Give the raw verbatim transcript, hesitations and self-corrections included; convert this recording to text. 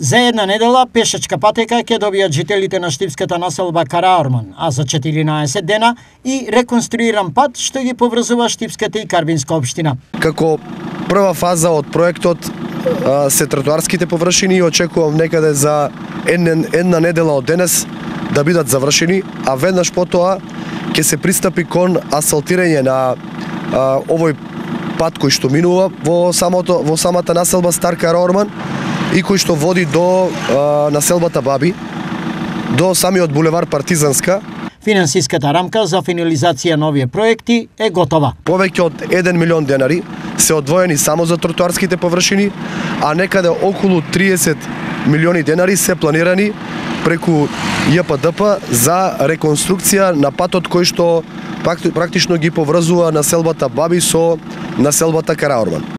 За една недела пешачка патека ќе добијат жителите на штипската населба Караорман, а за четиринаесет дена и реконструиран пат што ги поврзува Штипската и Карвинска општина. Како прва фаза од проектот се тротоарските површини и очекувам некаде за една, една недела од денес да бидат завршени, а веднаш потоа ќе се пристапи кон асфалтирање на а, овој пат кој што минува во самото во самата населба Стар Караорман и кој што води до а, населбата Баби, до самиот булевар Партизанска. Финансиската рамка за финализација на овие проекти е готова. Повеќе од еден милион денари се одвоени само за тротоарските површини, а некаде околу триесет милиони денари се планирани преку Ј П Д П за реконструкција на патот кој што практично ги поврзува населбата Баби со населбата Караорман.